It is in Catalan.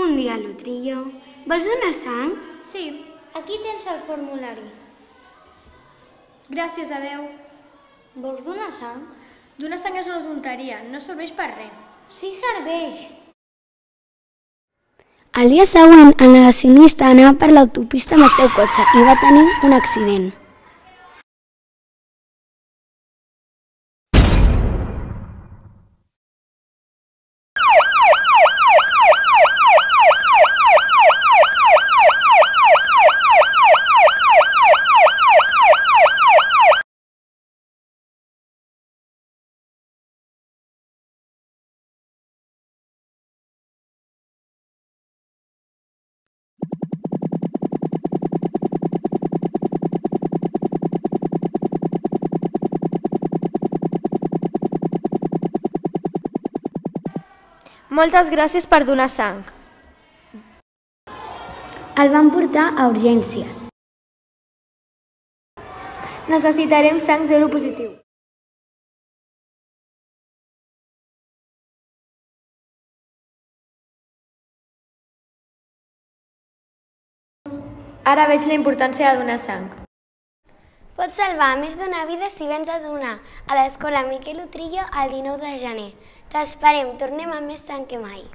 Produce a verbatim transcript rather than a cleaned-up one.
Bon dia, Lutrillo. Vols donar sang? Sí. Aquí tens el formulari. Gràcies, adeu. Vols donar sang? Donar sang és una tonteria, no serveix per res. Sí serveix. El dia següent, el negacionista anava per l'autopista amb el seu cotxe i va tenir un accident. Moltes gràcies per donar sang. El van portar a urgències. Necessitarem sang zero positiu. Ara veig la importància de donar sang. Pots salvar més d'una vida si vens a donar a l'escola Miquel Lutrillo el dinou de gener. T'esperem, tornem amb més sang que mai.